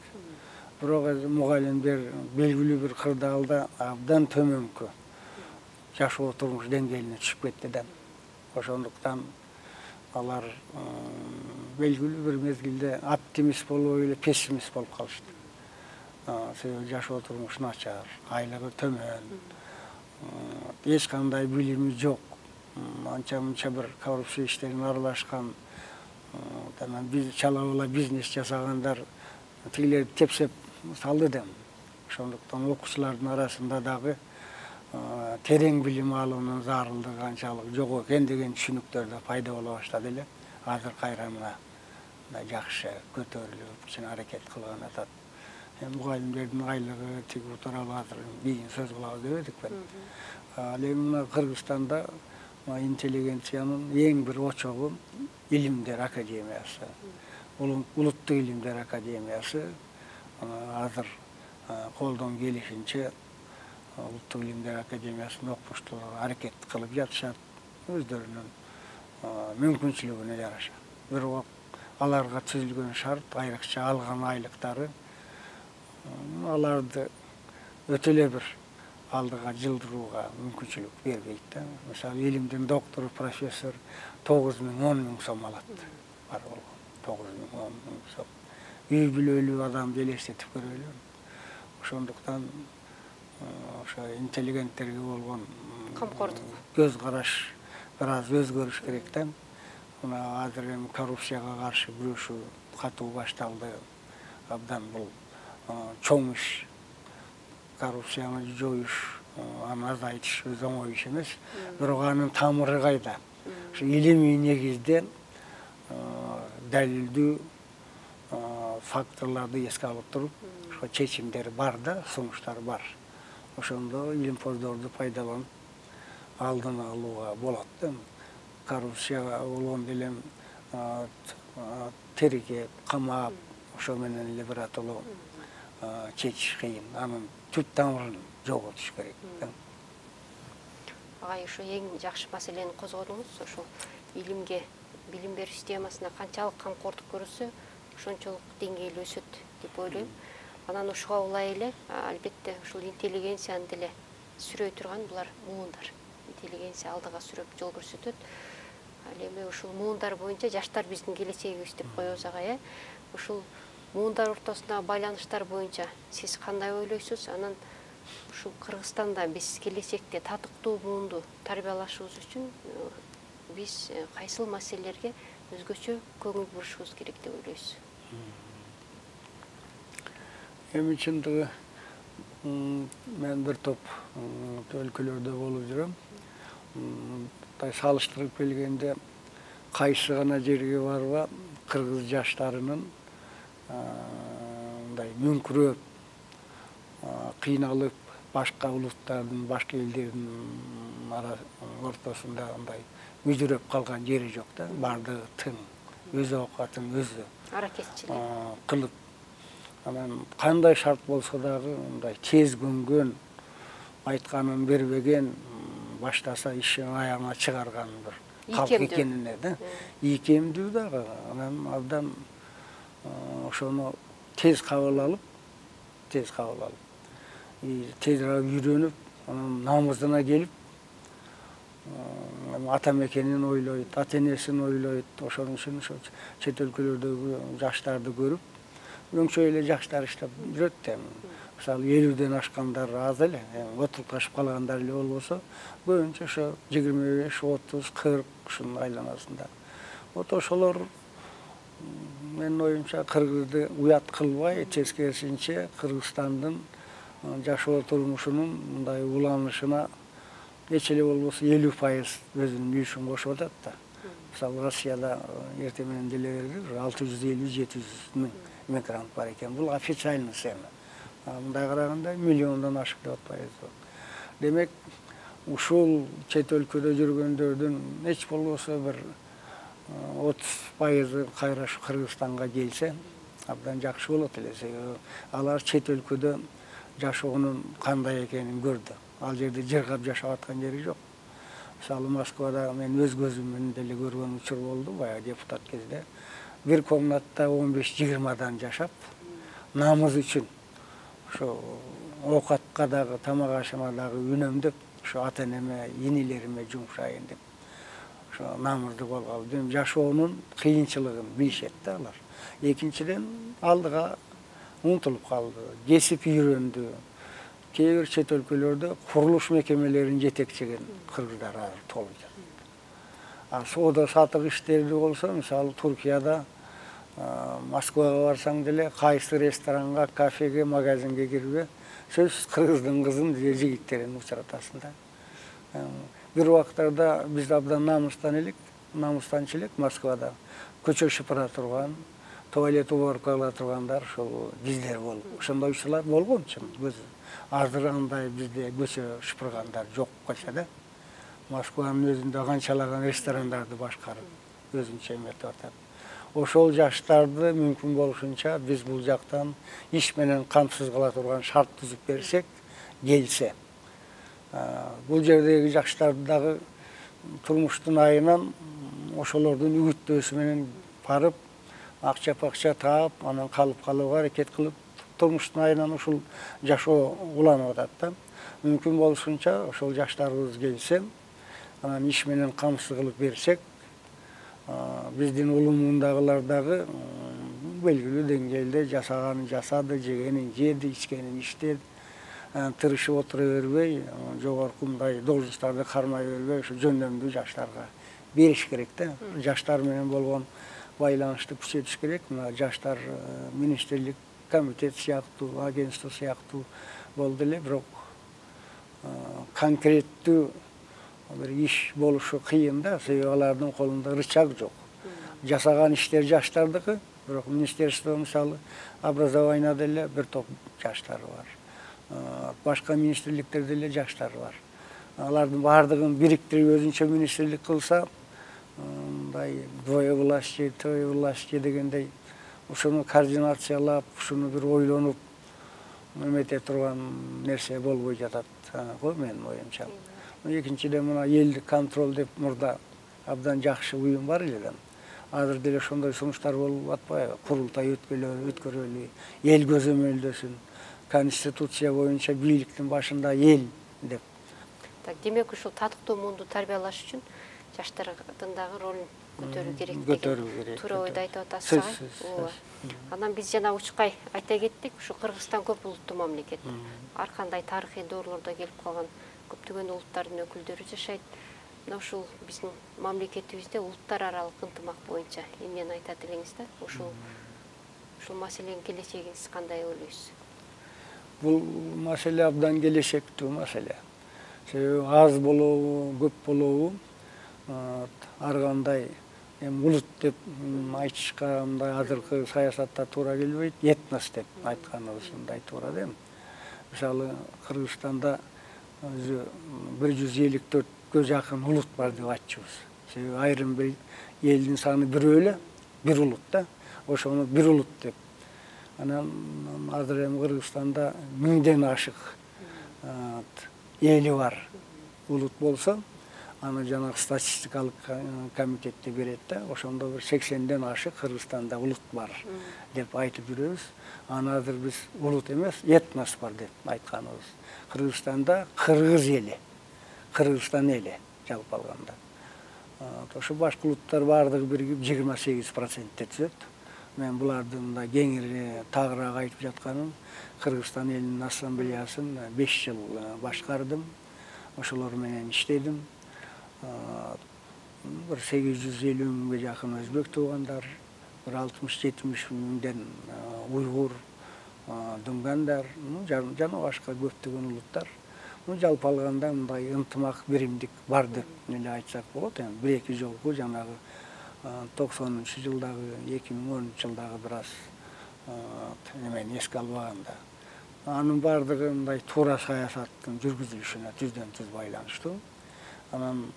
Speaker 3: Бирок мугалимдер белгилүү бир кырдаалда абдан төмөнкү жашоо турмуш деңгээлине түшүп кетти да. Ошондуктан алар белгилүү бир мезгилде оптимист болбой эле пессимист болуп калышты. Себеби жашоо турмушу начар, айлыгы төмөн, эч кандай билими жок, анча-мынча бир коррупция иштерине аралашкан, чала-була бизнес жасагандар тигилерди тепсеп салды да. Ошондуктан окуучулардын арасында дагы терең билим алуунун зарылдыгы канчалык жок экен деген түшүнүктөр да пайда боло баштады эле. Азыр кайра мына жакшы көтөрүлүп, чын аракет кылган атат. Мугалимдердин айлыгы тиги тууралуу азыр кийин сөз кылабыз деп эдикпи. Ал эми мына Кыргызстанда интеллигенциянын эң бир очогу илимдер академиясы, улуттук илимдер академиясы азыр колдон келишинче улуттук илимдер академиясынын окумуштуулары аракет кылып жатышат, өздөрүнүн мүмкүнчүлүгүнө жараша. Бирок аларга түзүлгөн шарт, айрыкча алган айлыктары аларды өтө эле бир алдыга жылдырууга мүмкүнчүлүк бербейт да. Мисалы, илимдин доктору, профессор 9.000–10.000 сом алат. Бар болгон 9.000–10.000 сом. Үй бүлөлүү адамды элестетип көрөлү. Ошондуктан ошо интеллигенттерге болгон
Speaker 2: камкордук,
Speaker 3: көз караш бир аз өзгөрүш керек да. Мына азыр эми коррупцияга каршы күрөшүү катуу башталды. Абдан бул чоң иш. Коррупцияны жоюш, аны азайтыш өз оңой иш эмес. Бирок анын тамыры кайда? Ушу илимий негизде далилдүү факторлорду эске алып туруп, ошо чечимдер бар да, сунуштар бар. Ошондо илимпоздорду пайдаланып алдын алууга болот да. Коррупция болгон делем тергеп, камап, ошо менен эле биротоло чечиш кыйын. Анын түп тамырын жоготуш керек да.
Speaker 2: Агай, ушу эң жакшы маселени козгодуңуз. Ошол илимге, билим берүү системасына канчалык камкордук көрүлсө, ошончолук деңгээли өсөт деп ойлойм. Анан ушуга улай эле, албетте, ушул интеллигенцияны деле сүрөй турган булар муундар. Интеллигенция алдыга сүрөп жол көрсөтөт. Ал эми ушул муундар боюнча жаштар биздин келечегибиз деп коебуз агай. Ушул муундар ортосундагы байланыштар боюнча сиз кандай ойлойсуз? Анан ушул Кыргызстанда биз келечекте татыктуу муунду тарбиялашыбыз үчүн биз кайсыл маселелерге өзгөчө көңүл бурушубуз керек деп ойлойсуз?
Speaker 3: Эми чындыгы мен бир топ өлкөлөрдө болуп жүрөм. Салыштырып келгенде кайсы гана жерге барба кыргыз жаштарынын мындай мүңкүрөп, кыйналып, башка улуттардын, башка элдердин ортосунда мындай мүжүрөп калган жери жок да. Бардыгы тың, өз оокатын өзү
Speaker 2: аракетчилик
Speaker 3: кылып, анан кандай шарт болсо дагы мындай тез көнгөн, айтканын бербеген, баштаса ишин аягына чыгарган бир калк экенине да. Ийкемдүү дагы. Анан абдан ошону тез кабыл алып, тезирээк үйрөнүп, анан намысына келип, ата мекенин ойлойт, ата энесин ойлойт. Ошон үчүн ошо чет өлкөлөрдөгү жаштарды көрүп, өңчөй эле жаштар иштеп жүрөт да. Мисалы 50ден ашкандар аз эле, отурташып калгандар эле болбосо, көбүнчө ошо 25, 30, 40 ушунун айланасында. Вот ошолор менин оюмча кыргызды уят кылбай, тескерисинче Кыргызстандын жашоо турмушунун мындай уланышына нече эле болбосо 50% өзүнүн үлүшүн кошуп атат да. Мисалы Россияда эртең менен деле 650-700 миң мигрант бар экен. Бул официальный цифра. Мындай караганда миллиондон ашык деп атпайбыз. Демек, ушул чет өлкөдө жүргөндөрдүн эч болбосо бир 30% кайра Кыргызстанга келсе, абдан жакшы болот эле. Алар чет өлкөдө жашоонун кандай экенин көрдү. Ал жерде жыргап жашап аткан жери жок. Мисалы Москвада мен өз көзүм менен деле көргөн учур болду, баягы депутат кезде. Бир комнатта 15-20 жашап, намыз үчүн ошо оокатка дагы, тамак ашыма дагы үнөмдөп, ошо ата энеме, инилериме жумшайын деп, ошо намызды колго алып, жашоонун кыйынчылыгын билишет да алар. Экинчиден, алдыга умтулуп калды, кесип үйрөндү. Кээ бир чет өлкөлөрдө курулуш мекемелерин жетекчеген кыргыздар азыр толуп жатат. Соода сатык иштерди болсо, мисалы Туркияда, Москвага барсаң деле, кайсы ресторанга, кафеге, магазинге кирбе, сөзсүз кыргыздын кызын же жигиттерин учуратасың да. Бир убактарда биз абдан намыстанчы элек Москвада көчө шыпыра турган, туалет уборка кыла тургандар ошол биздер болуп. Ошондой учурлар болгон чын. Азыр андай бизде көчө шыпыргандар жок калса да. Москванын өзүндө канчалаган ресторандарды башкарып өзүнчө эметип атат. Ошол жаштарды мүмкүн болушунча биз бул жактан иш менен камсыз кыла турган шарт түзүп берсек, келсе. Бул жердеги жаштарды дагы турмуштун айынан ошолордун үгүттөөсү менен барып, акча таап, анан калып калууга аракет кылып, турмуштун айынан ушул жашоо уланып атат да. Мүмкүн болушунча ошол жаштарыбыз келсе, анан иш менен камсыз кылып берсек, биздин улумундагылар дагы белгилүү деңгээлде жасаганын жасады, жегенин жеди, ичкенин ичти, тырышып отура бербей, жогорку мындай должносттарды кармай бербей, ушу жөндөмдүү жаштарга бериш керек да. Жаштар менен болгон байланышты күчөтүш керек. Мына жаштар министрлик комитет сыяктуу, агентство сыяктуу болду эле, бирок конкреттүү бир иш болушу кыйын да, себеби алардын колунда рычаг жок. Жасаган иштер жаштардыкы, бирок министерство мисалы образование деле бир топ жаштар бар. Башка министрликтерде деле жаштар бар. Алардын баардыгын бириктирип өзүнчө министрлик кылса, мындай двое власти, трое власти дегендей ушуну координациялап, ушуну бир ойлонуп эмете турган нерсе болбой жатат го менин оюмча. Экинчиден мына элдик контроль деп мурда абдан жакшы уюм бар эле да. Азыр деле ошондой сунуштар болуп атпайбы? Курултай өткөрөлү, эл көзөмөлдөсүн, конституция боюнча бийликтин башында эл деп.
Speaker 2: Так, демек ушул татыктуу муунду тарбиялаш үчүн жаштардын дагы ролун көтөрүү керек деген туура ойду айтып атасыз. Ооба. Анан биз жана учкай айта кеттик, ушу Кыргызстан көп улуттуу мамлекет. Ар кандай тарыхый доорлордо келип калган көптөгөн улуттардын өкүлдөрү жашайт. Мына ушул биздин мамлекетибизде улуттар аралык ынтымак боюнча эмнени айтат элеңиз да? Ушул маселенин келечегиңиз кандай ойлойсуз?
Speaker 3: Бул маселе абдан келечектүү маселе. Себеби аз болобу, көп болобу, ар кандай улут деп айтышка мындай азыркы саясатта туура келбейт, этнос деп айтканыбыз мындай туура да. Мисалы Кыргызстанда 154 жакын улут бар деп айтчубуз. Себеби айрым бир элдин саны бирөө эле, бир улут да. Ошону бир улут деп. Анан азыр эми Кыргызстанда 1000ден ашык эли бар улут болсо, аны жанагы статистикалык комитетте берет да, ошондо бир 80ден ашык Кыргызстанда улут бар деп айтып жүрөбүз. Аны азыр биз улут эмес, этнос бар деп айтканыбыз. Кыргызстанда кыргыз эли, Кыргызстан эли жалпы алганда. Ошо башка улуттар баардыгы биригип 28%-те түзөт. Мен булардын мындай кеңири тагыраак айтып жатканым, Кыргызстан элинин ассамблеясын 5 жыл башкардым. Ошолор менен иштедим. Bir 850 миңге жакын өзбек туугандар, bir 60-70 миңден уйгур, дүнгандар, жана башка көптөгөн улуттар. Жалпы алганда мындай ынтымак биримдик бар деп эле айтсак болот. Эми 1-2 жолку жанагы 90-жылдагы, 2010-жылдагы бир аз эмени эске албаганда. Анын баардыгы мындай туура саясаттын жүргүзүлүшүнө түздөн-түз байланыштуу. Анан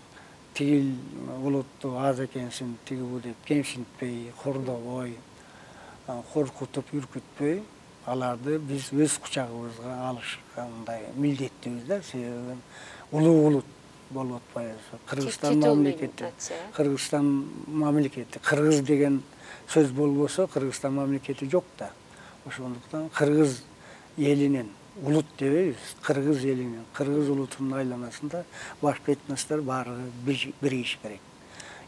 Speaker 3: тигил улутту аз экенсин, тиги бу деп кемсинтпей, кордобой, коркутуп, үркүтпөй, аларды биз өз кучагыбызга алышкандай милдеттүүбүз да. Себеби улуу улут болуп атпайбы? Кыргызстан мамлекети, Кыргызстан мамлекети, кыргыз деген сөз болбосо, Кыргызстан мамлекети жок да. Ошондуктан кыргыз элинин, улут дебейбиз, кыргыз элинин, кыргыз улутунун айланасында башка этностор баары биригиш керек.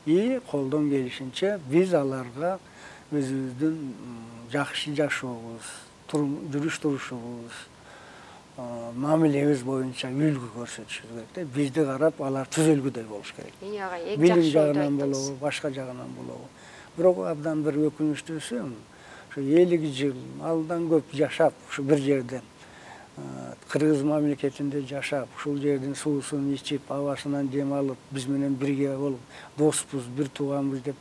Speaker 3: И колдон келишинче биз аларга өзүбүздүн жакшы жашообуз, жүрүш турушубуз, мамилебиз боюнча үлгү көрсөтүшүбүз керек. Бизди карап алар түзөлгүдөй болуш керек. Билим жагынан болобу, башка жагынан болобу. Бирок абдан бир өкүнүчтүүсү, ушу 50 жыл алдан көп жашап, ушу бир жерде кыргыз мамлекетинде жашап, ушул жердин суусун ичип, абасынан дем алып, биз менен бирге болуп, доспуз, бир тууганбыз деп,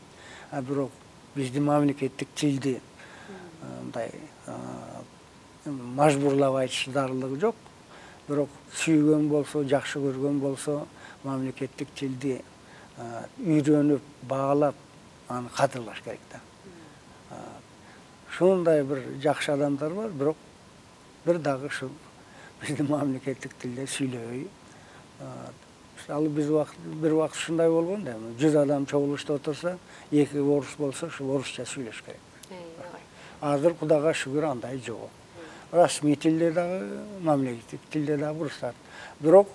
Speaker 3: бирок биздин мамлекеттик тилди мындай мажбурлап айтыш зарылыгы жок. Бирок сүйгөн болсо, жакшы көргөн болсо, мамлекеттик тилди үйрөнүп, баалап, аны кадырлаш керек да. Ушундай бир жакшы адамдар бар, бирок бир дагы ушул биздин мамлекеттик тилде сүйлөбөй. Ал биз бир убакыт ушундай болгон да, 100 адам чогулушта отурса, 2 орус болсо, ушул орусча сүйлөш керек. Азыр Кудайга шүгүр андай жок. Расмий тилде дагы, мамлекеттик тилде дагы уруксат. Бирок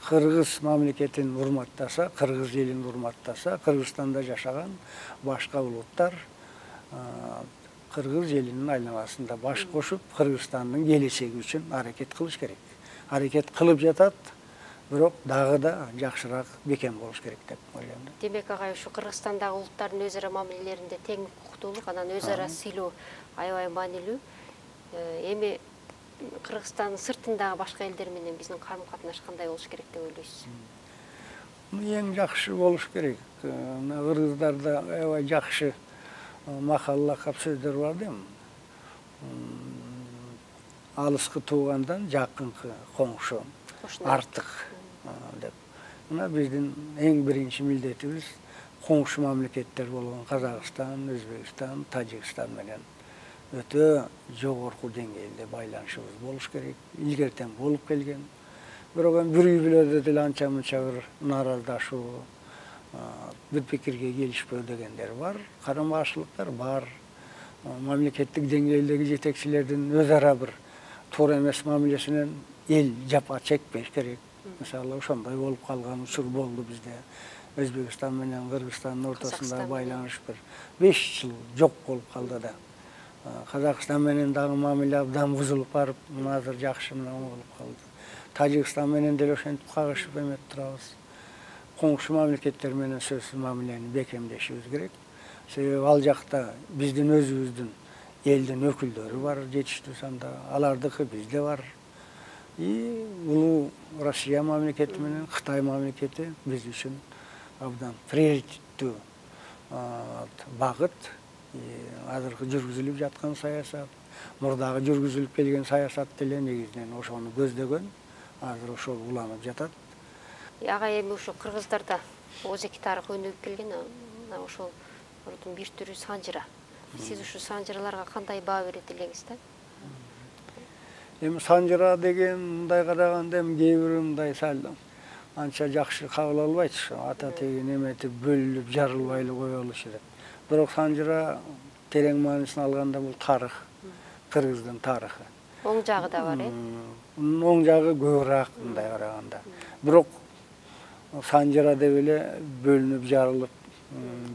Speaker 3: кыргыз мамлекетин урматтаса, кыргыз элин урматтаса, Кыргызстанда жашаган башка улуттар кыргыз элинин айланасында баш кошуп, Кыргызстандын келечеги үчүн аракет кылыш керек. Аракет кылып жатат, бирок дагы да жакшыраак бекем болуш керек деп ойлойм.
Speaker 2: Демек агай, ушу Кыргызстандагы улуттардын өз ара мамилелеринде тең укуктуулук, анан өз ара сыйлоо аябай маанилүү. Эми Кыргызстандын сыртындагы башка элдер менен биздин карым-катнаш кандай болуш керек деп ойлойсуз?
Speaker 3: Эң жакшы болуш керек. Кыргыздарда аябай жакшы макал лакап сөздөр бар дейм. Алыскы туугандан жакынкы коңшу артык деп. Мына биздин эң биринчи милдетибиз коңшу мамлекеттер болгон Казакстан, Өзбекстан, Тажикстан менен өтө жогорку деңгээлде байланышыбыз болуш керек. Илгертен болуп келген. Бирок бир үй бүлөдө деле анча мынча бир наараздашуу, бир пикирге келишпөө дегендер бар. Карама-каршылыктар бар. Мамлекеттик деңгээлдеги жетекчилердин өз ара бир туура эмес мамилесинен эл жапа чекпеш керек. Мисалы ошондой болуп калган учур болду бизде. Өзбекстан менен Кыргызстандын ортосунда байланыш бир 5 жыл жок болуп калды да. Казакстан менен дагы мамиле абдан бузулуп барып, азыр жакшы менен болуп калды. Тажикстан менен деле ошентип кагышып эметип турабыз. Коңшу мамлекеттер менен сөзсүз мамилени бекемдешибиз керек. Себеби ал жакта биздин өзүбүздүн элдин өкүлдөрү бар жетиштүү санда, алардыкы бизде бар. Улуу Россия мамлекети менен Кытай мамлекети биз үчүн абдан приоритеттүү багыт. Азыркы жүргүзүлүп жаткан саясат, мурдагы жүргүзүлүп келген саясат деле негизинен ошону көздөгөн. Азыр ошол уланып жатат.
Speaker 2: Агай эми ошо кыргыздарда озеки тарых өнүгүп келген, ошол бир түрү санжыра. Сиз ушу санжыраларга кандай баа берет элеңиз да?
Speaker 3: Эми санжыра деген мындай караганда эми кээ бирөө мындай сал анча жакшы кабыл албайт. Ата теги неметип бөлүнүп жарылбай эле кое болушу керек. Бирок санжыра терең маанисин алганда бул тарых, Кыргыздын тарыхы.
Speaker 2: Оң жагы да бар,
Speaker 3: Оң жагы көбүрөөк мындай караганда. Бирок санжыра деп эле бөлүнүп жарылып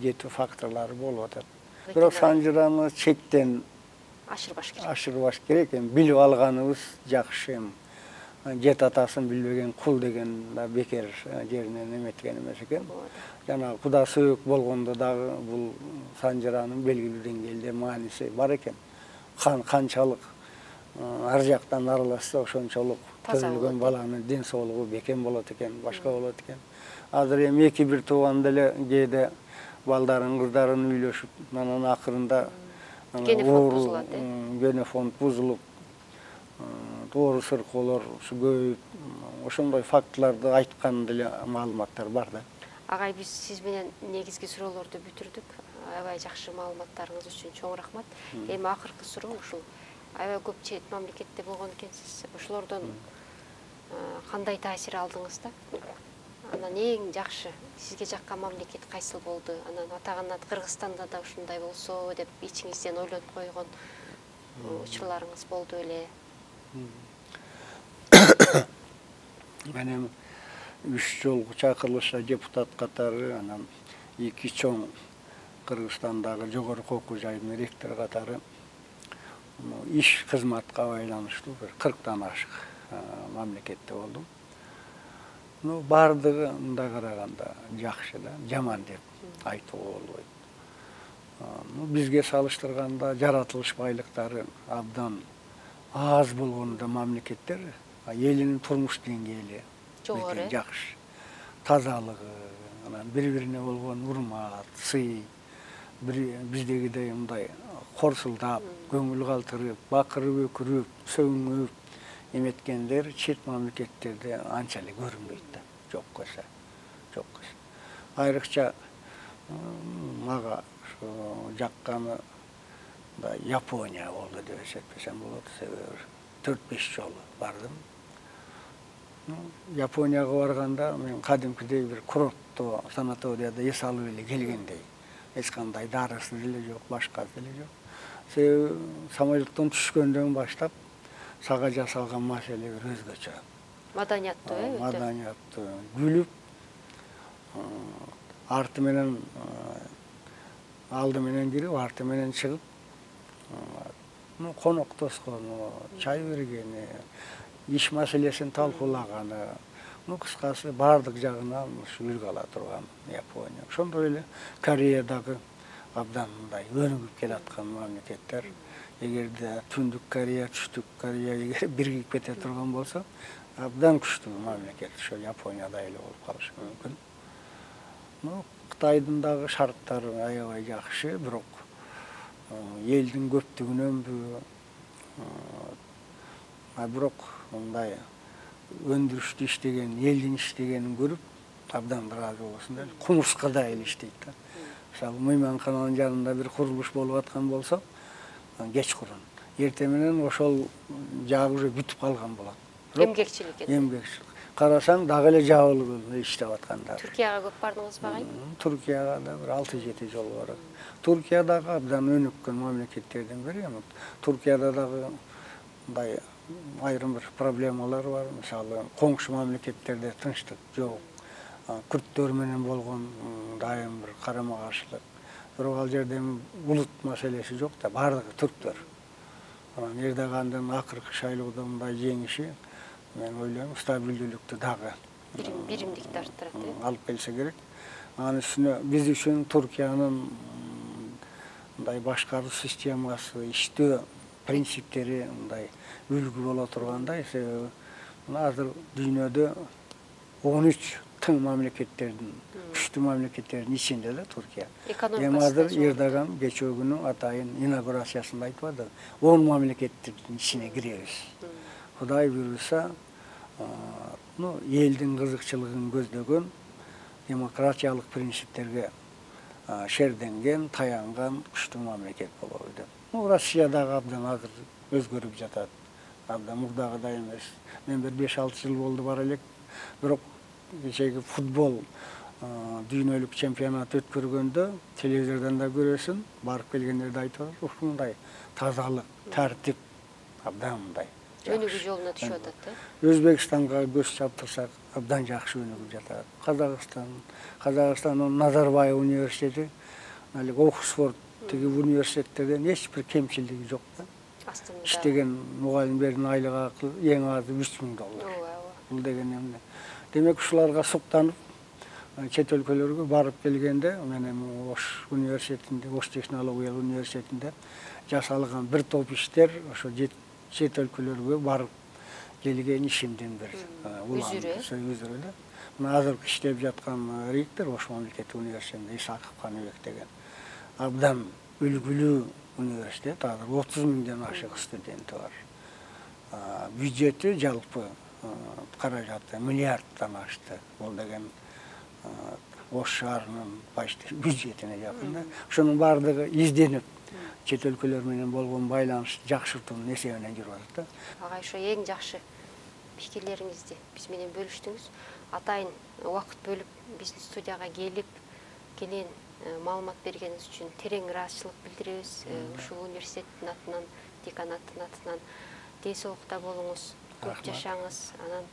Speaker 3: кетүү факторлору болуп атат. Бирок санжыраны чектен ашырбаш керек. Эми билип алганыбыз жакшы. Жет атасын билбеген кул деген да бекер жеринен эметкен эмес экен. Жана Куда сөөк болгондо дагы бул санжыранын белгилүү деңгээлде мааниси бар экен. Канчалык ар жактан аралашса ошончолук төрөлгөн баланын ден соолугу бекем болот экен, башка болот экен. Азыр эми эки бир тууган деле кээде балдарын, кыздарын үйлөшүп, анан акырында генофонд бузулуп, оору сыркоолор көбөйүп, ошондой фактыларды айткан деле маалыматтар бар да.
Speaker 2: Агай, биз сиз менен негизги суроолорду бүтүрдүк. Аябай жакшы маалыматтарыңыз үчүн чоң рахмат. Эми акыркы суроо ушул. Аябай көп чет мамлекетте болгон экенсиз. Ошолордон кандай таасир алдыңыз да? Анан эң жакшы сизге жаккан мамлекет кайсыл болду? Анан атаганат Кыргызстанда да ушундай болсо деп ичиңизден ойлонуп койгон учурларыңыз болду эле?
Speaker 3: Мен 3 жолку чакырылышта депутат катары, анан 2 чоң Кыргызстандагы жогорку окуу жайдын ректору катары иш кызматка байланыштуу 40тан ашык мамлекетте болдум. Бардыгы мындай караганда жакшы да, жаман деп айтууга болбойт. Бизге салыштырганда жаратылыш байлыктары абдан аз болгон да мамлекеттер, элинин турмуш деңгээли жогору, жакшы. Тазалыгы, анан бири-бирине болгон урмат, сый, биздегидей мындай корсулдап, көңүл калтырып, бакырып, өкүрүп, сөгүнүп эметкендер чет мамлекеттерде анча эле көрүнбөйт да. Жок көрсө. Айрыкча мага жакканы да Япония болду деп эсептесем болот. Себеби 4-5 жолу бардым. Японияга барганда мен кадимкидей бир курортто санаторияда эс алып эле келгендей. Эч кандай дарысы деле жок, башкасы деле жок. Себеби самолеттон түшкөндөн баштап сага жасалган маселе бир өзгөчө.
Speaker 2: Маданияттуу, өтө.
Speaker 3: Маданияттуу, күлүп, арты менен алды менен кирип, арты менен чыгып, коноктоскону, чай бергени, иш маселесин талкуулаганы, кыскасы бардык жагынан үлгү ала турган Япония. Ошондой эле Кореядагы абдан мындай өнүгүп келаткан мамлекеттер. Эгерде Түндүк Корея, Түштүк Корея биригип кете турган болсо, абдан күчтүү мамлекет ошо Японияда эле болуп калышы мүмкүн. Кытайдын дагы шарттары аябай жакшы, бирок элдин көптүгүнөнбү, бирок мындай өндүрүштү иштеген, элдин иштегенин көрүп абдан ыраазы болосуң да. Кумурскада эле иштейт да. Мисалы, мейманкананын жанында бир курулуш болуп аткан болсо, кечкурун, эртең менен ошол жаак уже бүтүп калган болот.
Speaker 2: Эмгекчилик экен.
Speaker 3: Эмгекчилик. Карасаң дагы эле жабылып иштеп аткандар.
Speaker 2: Туркияга көп бардыңызбы агай?
Speaker 3: Туркияга да бир 6-7 жолу барат. Туркия дагы абдан өнүккөн мамлекеттердин бири. Туркияда дагы мындай айрым бир проблемалар бар. Мисалы, коңшу мамлекеттерде тынчтык жок. Күрттөр менен болгон дайым бир карама-каршылык. Бирок ал жерде улут маселеси жок да, бардыгы түрктөр. Анан Эрдогандын акыркы шайлоодо мындай жеңиши, мен ойлойм, стабилдүүлүктү дагы
Speaker 2: биримдикти арттырат деп
Speaker 3: алып келсе керек. Анын үстүнө биз үчүн Туркиянын мындай башкаруу системасы, иштөө принциптери мындай үлгү боло тургандай, себеби азыр дүйнөдө 13 тың мамлекеттердин, күчтүү мамлекеттердин ичинде да Туркия. Эми азыр Эрдоган кечээ күнү атайын инаугурациясында айтып атты, 10 мамлекеттин ичине киребиз. Кудай буйруса, элдин кызыкчылыгын көздөгөн, демократиялык принциптерге шерденген, таянган күчтүү мамлекет болобу деп. Россия дагы абдан азыр өзгөрүп жатат. Абдан мурдагыдай эмес. Мен бир 5-6 жыл болду бара элек, бирок кечеги футбол дүйнөлүк чемпионат өткөргөндө телевизордон да көрөсүң, барып келгендерди айтып атат, ушундай тазалык, тартип абдан мындай
Speaker 2: өнүгүү жолуна түшүп атат да.
Speaker 3: Өзбекстанга көз чаптырсак, абдан жакшы өнүгүп жатат. Казакстандын Назарбаев университети, Оксфорд тиги университеттерден эч бир кемчилиги жок да.
Speaker 2: Астында
Speaker 3: Иштеген мугалимдердин айлык акы эң азы $3000. Бул деген эмне? Демек ушуларга суктанып, чет өлкөлөргө барып келгенде, мен эми Ош университетинде, Ош технологиялык университетинде жасалган бир топ иштер ошо чет өлкөлөргө барып келген ишимдин бир үзүрү да. Мына азыркы иштеп жаткан ректор Ош мамлекеттик университетинде Исаков Каныбек деген абдан үлгүлүү университет, азыр 30 миңден ашык студенти бар. Бюджети жалпы каражаты миллиарддан ашты. Бул деген Ош шаарынын почти бюджетине жакын да. Ошонун баардыгы изденип, чет өлкөлөр менен болгон байланышты жакшыртуунун эсебинен жүрүп атат да.
Speaker 2: Агай, ошо эң жакшы пикирлериңизди биз менен бөлүштүңүз. Атайын убакыт бөлүп биздин студияга келип, кенен маалымат бергениңиз үчүн терең ыраазычылык билдиребиз. Ушул университеттин атынан, деканаттын атынан ден соолукта болуңуз, көп жашаңыз, анан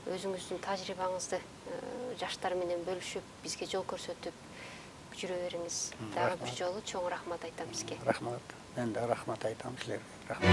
Speaker 2: өзүңүздүн тажрыйбаңызды жаштар менен бөлүшүп, бизге жол көрсөтүп жүрө бериңиз. Дагы бир жолу чоң рахмат айтам сизге.
Speaker 3: Рахмат. Мен да рахмат айтам силерге. Рахмат.